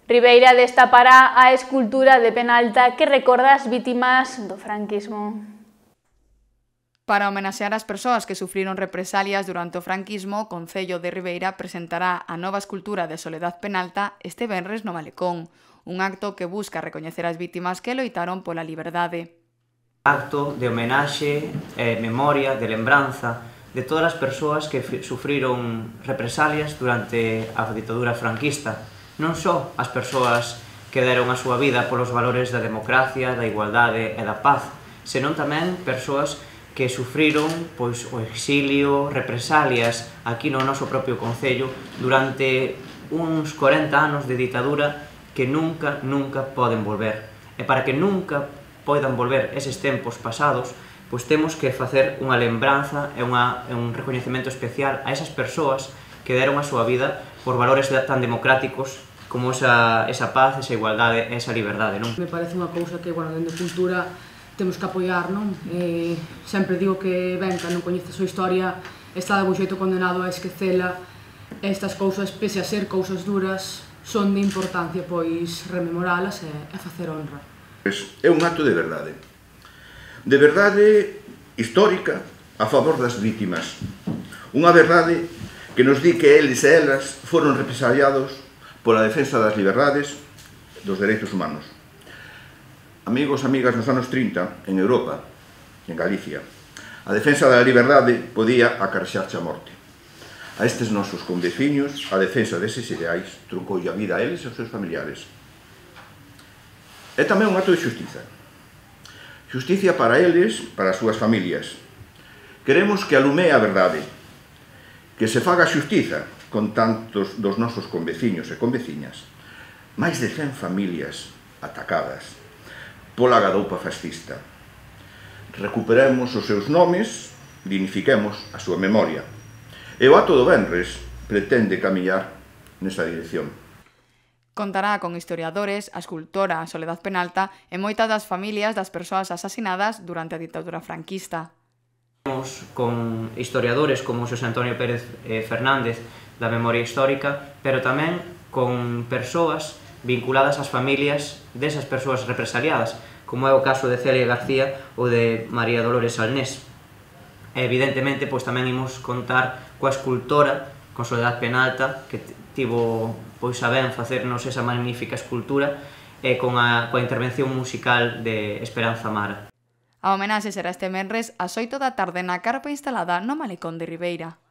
Ribeira destapará a escultura de Penalta que recorda as vítimas do franquismo. Para homenaxear as persoas que sufriron represalias durante o franquismo, o Concello de Ribeira presentará a nova escultura de Soledad Penalta este venres no Malecón, un acto que busca recoñecer as vítimas que loitaron pola liberdade. Acto de homenaxe, memoria, de lembranza de todas as persoas que sufriron represalias durante a ditadura franquista. Non só as persoas que deron a súa vida polos valores da democracia, da igualdade e da paz, senón tamén persoas que sufriron o exilio, represalias aquí no noso propio concello durante uns 40 anos de ditadura que nunca poden volver. E para que nunca poidan volver eses tempos pasados, pois temos que facer unha lembranza e un recoñecemento especial a esas persoas que deron a súa vida por valores tan democráticos como esa paz, esa igualdade e esa liberdade, non? Me parece unha cousa que, dende cultura temos que apoiar, non? Sempre digo que, quen non coñece a súa historia, está de bo xeito condenado a esquecela. Estas cousas, pese a ser cousas duras, son de importancia, pois, rememoralas e facer honra. É un acto de verdade histórica a favor das vítimas. Unha verdade que nos di que eles e elas foron represaliados pola defensa das liberdades e dos dereitos humanos. Amigos, amigas, nos anos 30, en Europa, en Galicia, a defensa da liberdade podía acarexarche a morte. A estes nosos conveciños, a defensa deses ideais truncoulle a vida a eles e aos seus familiares. É tamén un acto de xustiza. Xusticia para eles, para as súas familias. Queremos que alumee a verdade, que se faga xustiza con tantos dos nosos conveciños e conveciñas, máis de 100 familias atacadas pola gadoupa fascista. Recuperemos os seus nomes, dignifiquemos a súa memoria. E o acto do venres pretende camiñar nesa dirección. Contará con historiadores, a escultora Soledad Penalta e moitas das familias das persoas asasinadas durante a ditadura franquista. Con historiadores como Xosé Antonio Pérez Fernández da Memoria Histórica, pero tamén con persoas vinculadas ás familias desas persoas represaliadas, como é o caso de Celia García ou de María Dolores Alnés. Evidentemente, pois tamén imos contar coa escultora, con Soledad Penalta, que tivo a ben facernos esa magnífica escultura, e coa intervención musical de Esperanza Mara. A homenaxe será este venres ás 8 da tarde na carpa instalada no Malecón de Ribeira.